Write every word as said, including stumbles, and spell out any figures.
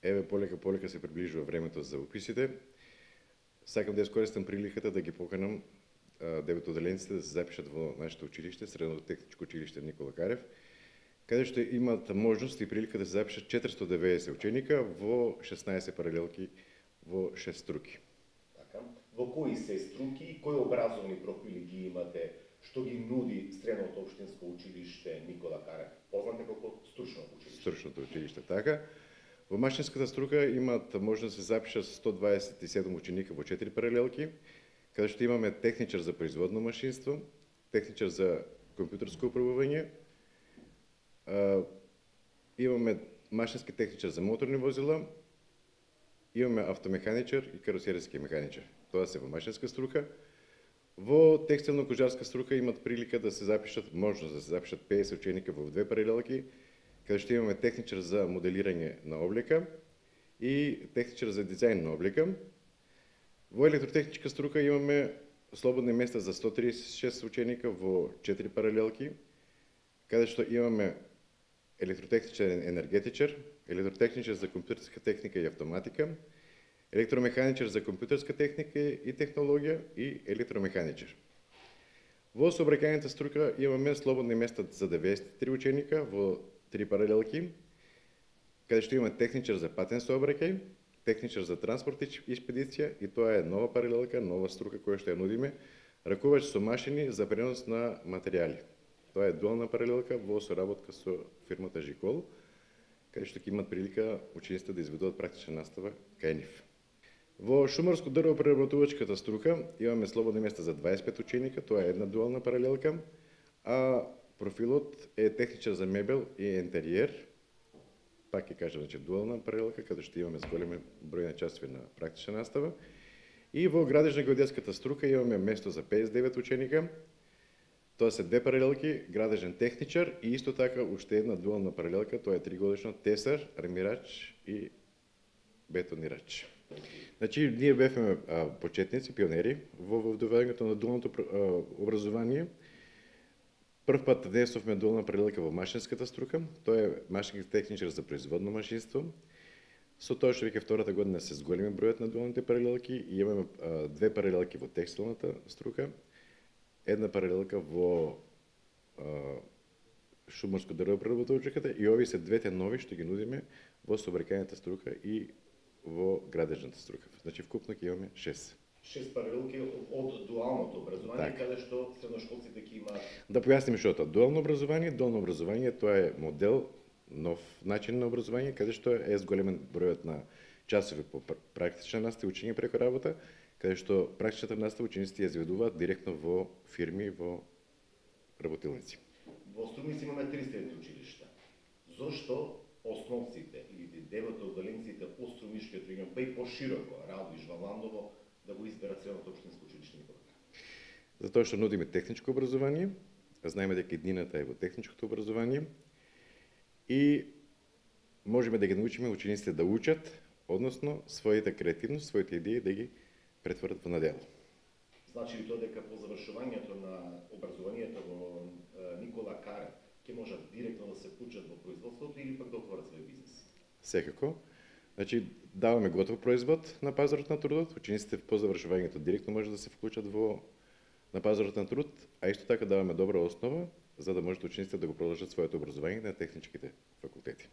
еве полека полека се приближува времето за уписите. Сакам да искористам приликата да ги поканам деветоделенците да се запишат во нашето училиште, Средното техничко училиште Никола Карев, каде што имат можност и прилика да се запишат четиристотини и деветдесет ученика во шеснаесет паралелки во шест струки. Така. Во кои се струки и кои образовни профили ги имате, што ги нуди Средното општинско училиште Никола Карев? Познате како стручно училиште. Стручното училиште, така. Во машинската струка имат можност да се запишат сто дваесет и седум ученика во четири паралелки, каде што имаме техничар за производно машинство, техничар за компјутерско управување, имаме машински техничар за моторни возила, имаме автомеханичар и каросериски механичар. Тоа се во машинска струка. Во текстилно-кожарска струка имат прилика да се запишат, можност да се запишат педесет ученика во две паралелки, каде што имаме техничар за моделирање на облека и техничар за дизајн на облека. Во електротехничка струка имаме слободни места за сто триесет и шест ученика во четири паралелки, каде што имаме електротехничар енергетичар, електротехничар за компјутерска техника и автоматика, електромеханичар за компјутерска техника и технологија и електромеханичар. Во сообраќајната струка имаме слободни места за деветдесет и три ученика во три паралелки, каде што имаме техничар за патен сообраќај, техничар за транспорт и експедиција, и тоа е нова паралелка, нова струка која што ја нудиме, ракувач со машини за пренос на материјали. Тоа е дуална паралелка во соработка со фирмата Жикол, каде што ќе имат прилика учениците да изведуваат практична настава кај нив. Во шумарско дрвопреработувачката струка имаме слободни места за дваесет и пет ученика, тоа е една дуална паралелка, а профилот е техничар за мебел и интериер, пак ќе кажам, значи дуална паралелка, каде што имаме зголемен број на часови на практична настава. И во градежно-геодетската струка имаме место за педесет и девет ученика. Тоа се две паралелки, градежен техничар и исто така уште една дуална паралелка, тоа е тригодишно тесар, армирач и бетонирач. Значи, ние бевме почетници, пионери во вдоваѓањето на дуалното образование. Прв пат внесовме дуална паралелка во машинската струка, тоа е машински техничар за производно машинство. Со тоа што веќе втората година се зголеми бројот на дуалните паралелки и имаме а, две паралелки во текстилната струка, една паралелка во а, шумарско дрвопреработувачката и овие се двете нови што ги нудиме во сообраќајната струка и во градежната струка. Значи вкупно ќе имаме шест. Шест паралелки од дуалното образование, так, каде што средношколците ќе имаат. Да појасниме што е тоа. Дуално образование, дуално образование тоа е модел, нов начин на образование, каде што е зголемен бројот на часови по практична настава, учење преку работа, каде што практичната настава учениците ја изведуваат директно во фирми, во работилници. Во Струмица имаме три средни училишта. Зошто основците или деветоделенците од Струмишкиот регион, па и пошироко, Радовиш, Валандово, да го изберат Средното општинско училиште Никола Карев? Затоа што нудиме техничко образование, знаеме дека иднината е во техничкото образование и можеме да ги научиме учениците да учат, односно својата креативност, своите идеи да ги претворат во на дело. Значи ли тоа дека по завршувањето на образованието во Никола Карев ќе можат директно да се вклучат во производството или пак да отворат свој бизнес? Секако. Значи, даваме готов производ на пазарот на трудот, учениците по завршувањето директно може да се вклучат во на пазарот на труд, а исто така даваме добра основа за да можат учениците да го продолжат своето образование на техничките факултети.